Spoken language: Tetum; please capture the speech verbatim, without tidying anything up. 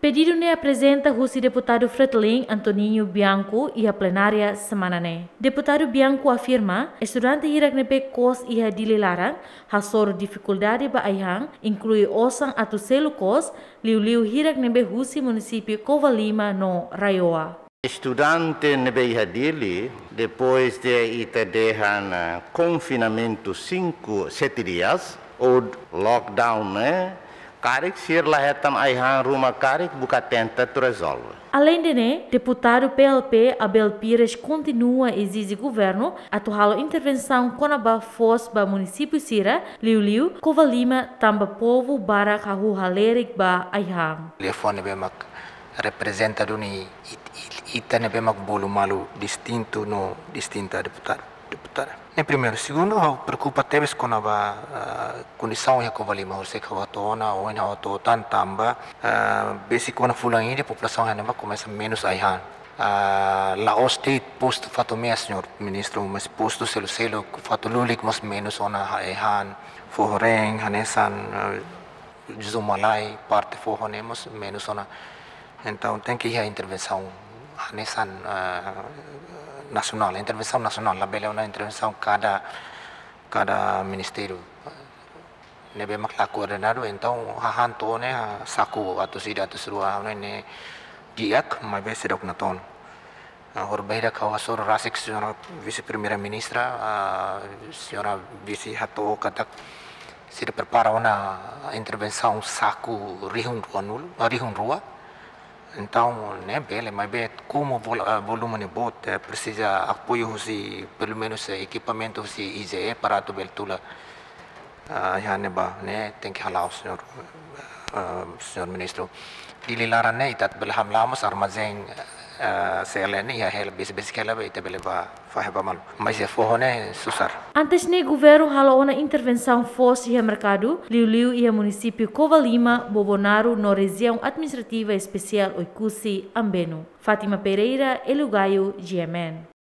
Pedidu ne'e aprezenta husi deputadu Fretilin Antoninho Bianco iha plenária semana ne'e. Deputadu Bianco afirma, estudante hirak ne'ebé kos iha Dili laran hasoru difikuldade ba ai-han, inklui osan atu selu kos, liuliu hirak ne'ebé husi munisípiu Covalima no RAEOA. Estudante ne'ebé iha Dili, depois de ita dehan, eh, konfinamentu cinco, sete dias, ou lockdown, eh, karik sira la hetan ai-han ruma karik buka tenta atu rezolve. Alende ne'e, deputadu P L P Abel Pires kontinua ezije governu atu halo intervensaun kona-ba foos ba munisípiu sira, liuliu Covalima, tanba povu barak hahú halerik ba ai-han. Liafuan ne'ebé mak reprezenta duni it-, it-, ita ne'ebé mak bolu malu distintu no distinta, deputadu, deputada. Ne'e primeiru. Segundu, ha'u preokupa tebes kona-ba, ah, kondisaun iha Covalima, horiseik ha'u hato'o ona, ohin ha'u hato'o tan tanba, ah, besik ona fulan ida, populasaun iha ne'ebá komesa menus ai-han. Ah, la'ós de'it postu Fatumea, señór ministru, mas postu seluk-seluk, Fatululi mós menus ona ai-han, Foho Reen, hanesan, ah, Zumalai, parte foho ne'e mós menus ona. Entaun, tenke iha intervensaun hanesan, eh, nasionál, intervensaun nasionál, labele ona intervensaun kada, kada ministériu. Ne'ebé mak la koordenadu, entaun, hahán to'o ne'e, ha, saku atus ida, atus rua, ne'e, ne'e di'ak, maibé seidauk natoon. Ah, horibainhira ha'u hasoru rasik, señora Vise-Primeira-Ministra, ah, señora Vise hato'o katak sira prepara ona intervensaun saku rihun ruanulu, ah, rihun rua. Entaun, ne'e bele, maibé komu vol-, ah, volume ne'e boot, eh, presiza apoiu husi, pelumenus, eh, ekipamentu husi I G E para atu bele tula, ah, iha ne'ebá, ne'e tenke hala'o, señór, ah, señór ministru. Dili laran ne'e, ita bele hamlaha mós armazén, ah, C L N iha hela, besik-besik hela be ita bele bá fahe ba malu. Mas iha foho ne'e susar. Antes ne'e governu halo ona intervensaun foos iha merkadu, liuliu iha munisípiu Covalima, Bobonaro no rejiaun administrativa espesiál Oekusi, Ambeno. Fátima Pereira, Elio Gaio, G M N.